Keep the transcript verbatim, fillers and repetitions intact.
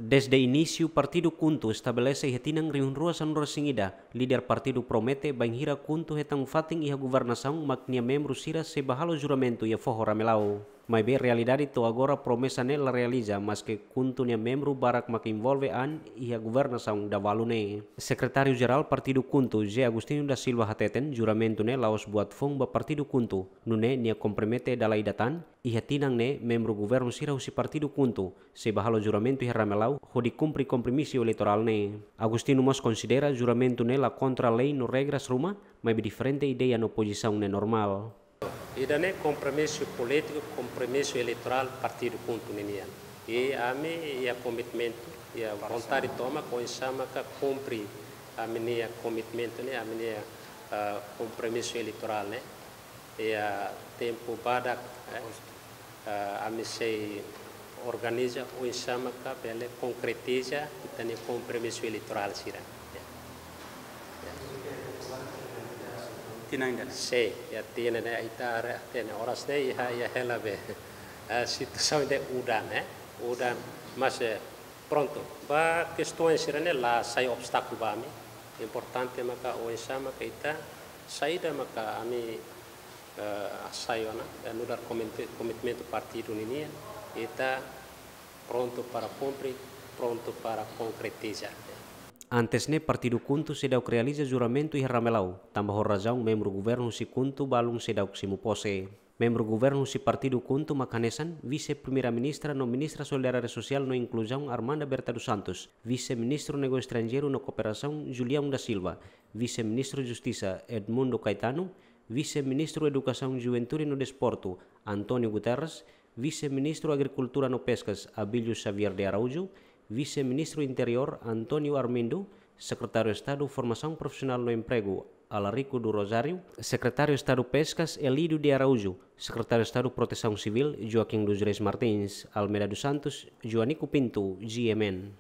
Dezde inísiu partidu KHUNTO estabelese iha tinan rihun rua sanulu-resin-ida, líder partidu promete bainhira KHUNTO hetan fatin iha governasaun mak nia membru sira sei bá halo juramentu iha foho Ramelau. Maibé realidade to'o agora promesa ne'e la realiza, maske KHUNTO nia membru barak mak envolve an iha governasaun dahuluk ne'e. Sekretáriu Jerál Partidu KHUNTO, José Agostinho da Silva hateten, juramentu ne'e la'ós buat foun ba Partidu KHUNTO, nune'e nia kompromete dala ida tan, iha tinan ne'e membru governu sira husi Partidu KHUNTO sei bá halo juramentu iha Ramelau hodi kumpre kompromisu eleitorál ne'e. Agostinho mós konsidera juramentu ne'e la kontra lei no regras ruma, maibé diferente ideia no pozisaun ne'e normál. Ida-ne'e kompromisu polítiku, kompromisu eleitorál Partidu KHUNTO ninian. I ami iha komitmentu, iha vontade tomak oinsá maka kumpre ami-nia komitmentu ne'e, ami-nia, ah, kompromisu eleitorál ne'e. Iha tempu badak, eh, ah, ami sei organiza oinsá maka bele konkretiza ita-nia kompromisu eleitorál sira. Ya. Ya. Tinan ida-ne'e. Sei, iha tinan ida-ne'e ita haree, tinan oras ne'e iha, iha hela be. Ah, situasaun ne'e udan, eh. Udan, mas, eh, prontu. Ba kestaun sira-ne'e la sai obstákulu ba ami. Importante maka oinsá maka ita, saida maka ami, eh, hasai ona, eh, nu'udar komitmen-, komitmentu partidu ninian, ita prontu para kumpre, prontu para konkretiza. Antes ne'e Partidu KHUNTO seidauk realiza juramentu iha Ramelau, tanba ho razaun membru governu husi KHUNTO balun seidauk simu pose. Membru governu husi Partidu KHUNTO mak hanesan, Vise-Primeira-Ministra no Ministra Solidariedade Sosiál no Inkluzaun Armanda Berta dos Santos, Vise-Ministru Negósiu Estranjeiru no Kooperasaun Julião da Silva, Vise-Ministru Justisa Edmundo Caetano, Vise-Ministru Edukasaun, Juventude no Desportu António Guterres, Vise-Ministru Agrikultura no Peskas Abílio Xavier de Araújo, Vise-Ministru Interiór António Armindo, Sekretáriu Estadu Formasaun Profisionál no Empregu Alarico do Rosário, Sekretáriu Estadu Peskas Elídio de Araújo, Sekretáriu Estadu Protesaun Sivíl Joaquim dos Reis Martins, Almeida dos Santos, Joanico Pinto, G M N.